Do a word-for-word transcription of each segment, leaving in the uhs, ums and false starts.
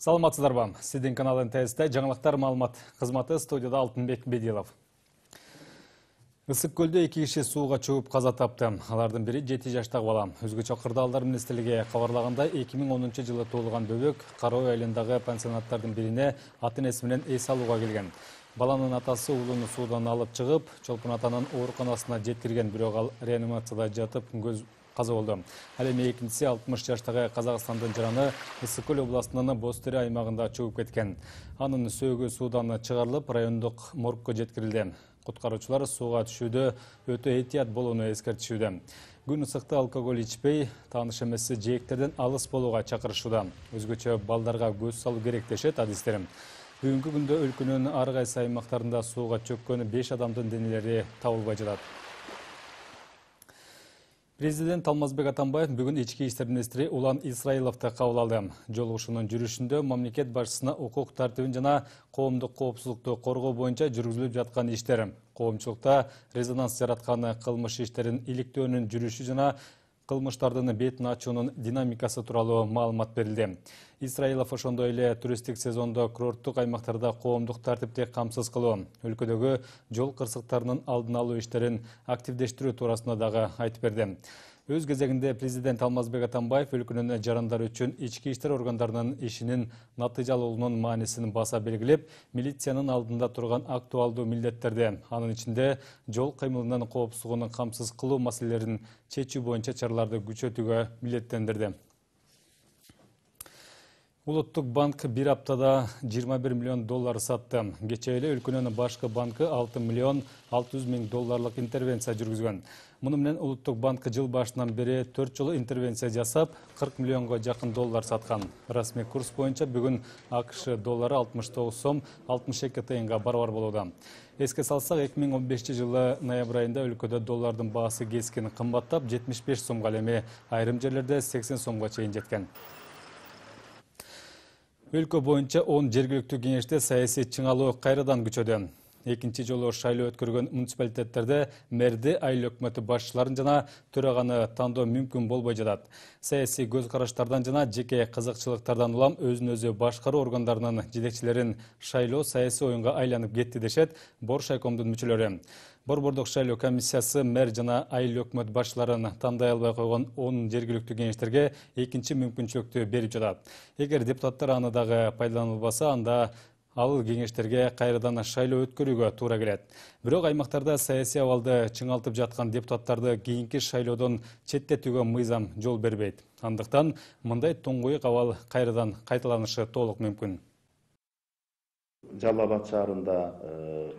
Саламатсыздарбы? Сиздин канал эн тэ эсте жаңылыктар маалымат кызматы, студияда Алтынбек Бедилов. Ысык көлдө эки киши сууга чөгүп каза тапты. Алардын бири жети жаштагы бала. Өзгөчө кырдаалдар министрлиги кабарлагандай, эки миң онунчу жылы туулган бөбөк Кара Ой айылындагы пансионаттардын бирине ата-энеси менен эс алууга келген. Баланын атасы уулуну суудан алып чыгып, Чолпон атанын ооруканасына жеткирген, бирок ал реанимацияда жатып көз каза болду. Ал эми экинчиси алтымыш жаштагы Казакстандын жараны Ысык көл областынын Бостери аймагында чөгүп кеткен. Анын сөөгү суудан чыгарылып, райондук моргко жеткирилди. Куткаруучулар сууга түшүүдө өтө этият болууну эскертишүүдө. Күн ысыкта алкоголь ичпей, тааныш эмес жээктерден алыс болууга чакырышууда. Өзгөчө балдарга көз салуу керек дешет адистер. Бүгүнкү күндө өлкөнүн ар кайсы аймактарында сууга чөккөн беш адамдын денелери табылбай жатат. Президент Алмазбек Атамбаев бүгүн ички иштер министри Улан Исраиловду кабыл алды. Жолугушуунун жүрүшүндө мамлекет башчысына укук тартибин жана коомдук коопсуздукту коргоо боюнча жүргүзүлүп жаткан иштер, коомчулукта резонанс жараткан кылмыш иштерин иликтөөнүн жүрүшү жана кылмыштардын бетин ачуунун динамикасы тууралуу маалымат берилди. Исраилов ошондой эле туристтик сезондо курорттук аймактарда коомдук тартипти камсыз кылуу, өлкөдөгү жол кырсыктарынын алдын алуу иштерин активдештирүү туурасында дагы айтып берди. Өз кезегинде президент Алмазбек Атамбаев өлкөнүн жарандары үчүн ички иштер органдарынын ишинин натыйжалуулугунун маанисин баса белгилеп, милициянын алдында турган актуалдуу милдеттерди, анын ичинде жол кыймылынын коопсуздугун камсыз кылуу маселелерин чечүү боюнча чараларды күчөтүүгө милдеттендирди. Улуттук банк бир аптада жыйырма бир миллион доллар сатты. Кечээ эле өлкөнүн башкы банкы алты миллион алты жүз миң долларлык интервенция жүргүзгөн. Муну менен Улуттук банк жыл башынан бери төрт жолу интервенция жасап, кырк миллионго жакын доллар саткан. Расмий курс боюнча бүгүн АКШ доллары алтымыш тогуз сом алтымыш эки тыйынга барабар болууда. Эске салсак, эки миң он бешинчи жылы ноябрь айында өлкөдө доллардын баасы кескин кымбаттап, жетимиш беш сомго, ал эми айрым жерлерде сексен сомго чейин жеткен. Өлкө боюнча он жергиликтүү кеңеште саясий чыңалуу кайрадан күчөдө. Экинчи жолу шайлоо өткөргөн муниципалитеттерде мэрди, айыл өкмөтү башчыларын жана төраганы тандоо мүмкүн болбой жатат. Саясий көз караштардан жана жеке кызыкчылыктардан улам өзүн өзү башкаруу органдарынын жетекчилерин шайлоо саясий оюнга айланып кетти дешет Боршайкомдун мүчөлөрү. Борбордук шайлоо комиссиясы мэр жана айыл өкмөт башчыларын тандай албай койгон он жергиликтүү кеңештерге экинчи мүмкүнчүлүктү берип жатат. Эгер депутаттар аны дагы пайдаланылбаса, анда ал кеңештерге кайрадан шайлоо өткөрүүгө туура келет. Бирок аймактарда саясий абалды чыңалтып жаткан депутаттарды кийинки шайлоодон четтетүүгө мыйзам жол бербейт. Андыктан мындай туңгуйук абал кайрадан кайталанышы толук мүмкүн. Жалал Абад шаарында,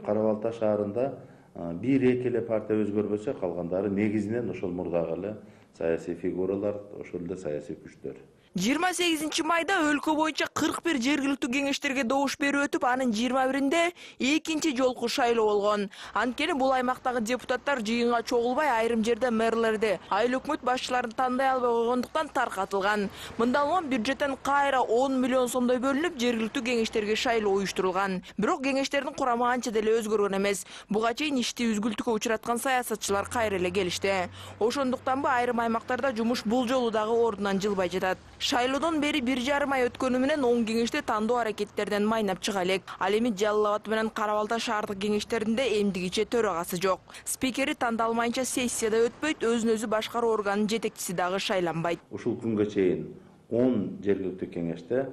Кара Балта шаарында бир эки эле партия өзгөрбөсө, калгандары негизинен ошол мурдагы эле саясий фигуралар, ошол эле саясий күчтөр. жыйырма сегизинчи майда өлкө боюнча кырк бир жергиликтүү кеңештерге добуш берүү өтүп, анын жыйырма биринде экинчи жолку шайлоо болгон. Анткени бул аймактагы депутаттар жыйынга чогулбай, айрым жерде мэрлерди, айыл өкмөт башчыларын тандай албай койгондуктан таркатылган. Мындалган бюджеттен кайра он миллион сомдой бөлүнүп, жергиликтүү кеңештерге шайлоо уюштурулган. Бирок кеңештердин курамы анча деле өзгөргөн эмес. Буга чейин ишти үзгүлтүккө учураткан саясатчылар кайра эле келишти. Ошондуктанбы айрым аймактарда жумуш бул жолу дагы ордунан жылбай жатат. Шайлоодон бери бир жарым ай өткөнү менен он кеңеште тандоо аракеттерден майнап чыга элек. Ал эми Жалал Абад менен Кара Балта шаардык кеңештеринде эмдигиче төрагасы жок. Спикери тандалмайынча сессияда өтпөйт, өзүн өзү башкаруу органынын жетекчиси дагы шайланбайт. Ушул күнгө чейин он жергиликтүү кеңеште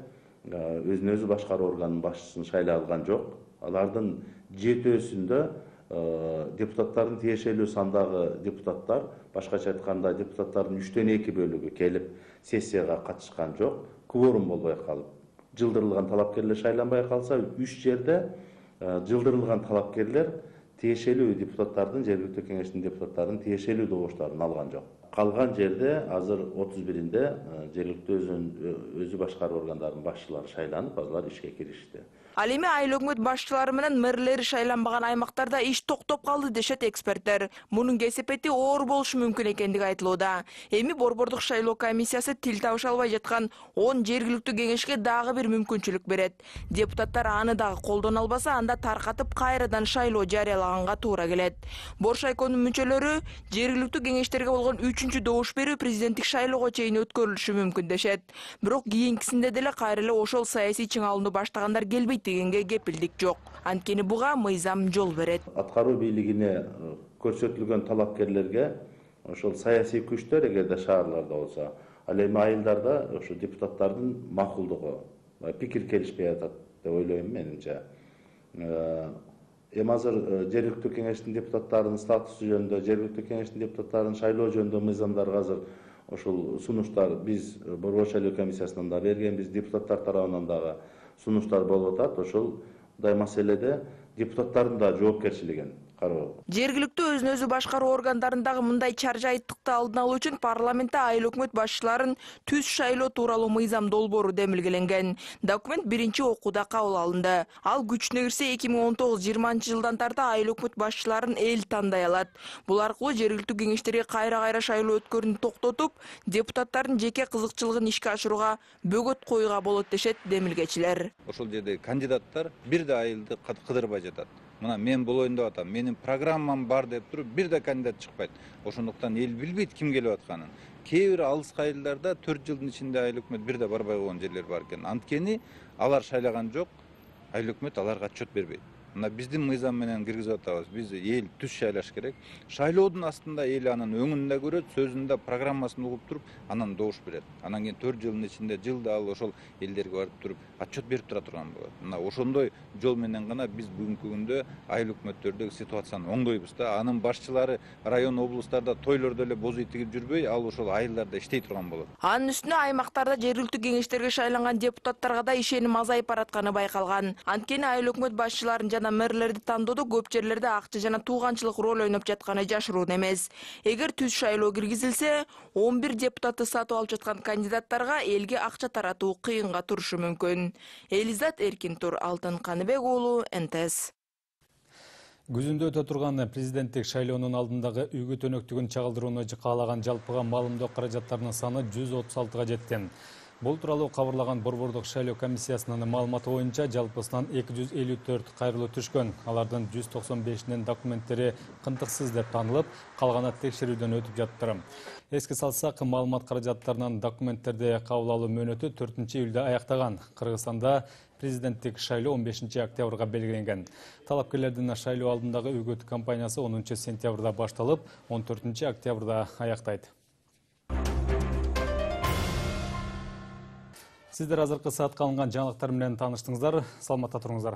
өзүн өзү башкаруу органынын башчысын шайлай алган жок. Алардын жетөөсүндө депутаттардын тиешелүү сандагы депутаттар, башкача айтканда депутаттардын үчтөн эки бөлүгү келип сессияга катышкан жок, кворум болбой калып, жылдырылган талапкерлер шайланбай калса, үч жерде жылдырылган талапкерлер тиешелүү депутаттардын, жергиликтүү кеңештин депутаттарынын тиешелүү добуштарын алган жок. Калган жерде азыр отуз биринде жергиликтүү өзү башкаруу органдарынын башчылары шайланып, алар ишке киришти. Ал эми айыл өкмөт башчылары менен мэрлери шайланбаган аймактарда иш токтоп калды дешет эксперттер. Мунун кесепети оор болушу мүмкүн экендиги айтылууда. Эми Борбордук шайлоо комиссиясы тил табыша албай жаткан он жергиликтүү кеңешке дагы бир мүмкүнчүлүк берет. Депутаттар аны дагы колдоно албаса, анда таркатып кайрадан шайлоо жарыялаганга туура келет. Боршайкомдун мүчөлөрү жергиликтүү кеңештерге болгон үч үчүнчү добуш берүү президенттик шайлоого чейин өткөрүлүшү мүмкүн дешет. Бирок кийинкисинде деле кайра эле ошол саясий чыңалууну баштагандар келбейт дегенге кепилдик жок. Анткени буга мыйзам жол берет. Аткаруу бийлигине көрсөтүлгөн талапкерлерге ошол саясий күчтөр эгерде шаарларда болсо, ал эми айылдарда ошо депутаттардын макулдугу, пикир келишпей атат деп ойлойм менимче. Эми азыр жергиликтүү кеңештин депутаттарынын статусу жөнүндө, жергиликтүү кеңештин депутаттарын шайлоо жөнүндө мыйзамдарга азыр ошол сунуштар биз Борбор шайлоо комиссиясынан да бергенбиз, депутаттар тарабынан дагы сунуштар болуп атат. Ошолдай маселеде депутаттардын да жоопкерчилигин кароо. Жергиликтүү өзүн өзү башкаруу органдарындагы мындай чаржайыттыкты алдын алуу үчүн парламентте айыл өкмөт башчыларын түз шайлоо тууралуу мыйзам долбоору демилгеленген. Документ биринчи окууда кабыл алынды. Ал күчүнө кирсе эки миң он тогуз жыйырманчы жылдан тарта айыл өкмөт башчыларын эл тандай алат. Бул аркылуу жергиликтүү кеңештерге кайра-кайра шайлоо өткөрүүнү токтотуп, депутаттардын жеке кызыкчылыгын ишке ашырууга бөгөт коюуга болот дешет демилгечилер. Ошол жерде кандидаттар бир да айылды кыдырбай жатат. Мына мен болоюн деп атам, менин программам бар деп туруп, бир да кандидат чыкпайт. Ошондуктан эл билбейт ким келип атканын. Кээ бир алыс айылдарда төрт жылдын ичинде айыл өкмөт бир да барбай койгон жерлер бар экен. Анткени алар шайлаган жок, айыл өкмөт аларга отчет бербейт. Мына биздин мыйзам менен киргизип атабыз. Биз эл түз шайлаш керек. Шайлоодун астында эл анын өңүндө көрөт, сөзүндө, программасын угуп туруп, анан добуш берет. Анан кийин төрт жылдын ичинде жылда ал ошол элдерге барып туруп отчет берип тура турган болот. Мына ошондой жол менен гана биз бүгүнкү күндө айыл өкмөттөрдөгү ситуацияны оңдойбуз да. Анын башчылары район, облустарда тойлордо эле боз үй тигип жүрбөй, ал ошол айылдарда иштей турган болот. Анын үстүнө аймактарда жергиликтүү кеңештерге шайланган депутаттарга да ишеним азайып баратканы байкалган. Анткени айыл өкмөт башчыларын жана мэрлерди тандоодо көп жерлерде акча жана тууганчылык роль ойноп жатканы жашыруун эмес. Эгер түз шайлоо киргизилсе, он бир депутатты сатып алып жаткан кандидаттарга элге акча таратуу кыйынга турушу мүмкүн. Элизат Эркинтур, Алтын Каныбек уулу, Н Т С. Күзүндө өтө турган президенттик шайлоонун алдындагы үйгө төнөктүгүн чагылдырууну каалаган жалпыга маалымдоо каражаттарынын саны жүз отуз алтыга жетти. Бул тууралуу кабарлаган Борбордук шайлоо комиссиясынын маалыматы боюнча жалпысынан эки жүз элүү төрт кайрылуу түшкөн. Алардын жүз токсон бешинин документтери кынтыксыз деп танылып, калганы текшерүүдөн өтүп жаттыр. Эске салсак, маалымат каражаттарынан документтерди кабыл алуу мөөнөтү төртүнчү июлда аяктаган. Кыргызстанда президенттик шайлоо он бешинчи октябрга белгиленген. Талапкерлердин шайлоо алдындагы үгүт кампаниясы онунчу сентябрда башталып, он төртүнчү октябрда аяктайт. Сиздер азыркы саатка алынган жаңылыктар менен тааныштыңыздар. Саламатта туруңуздар.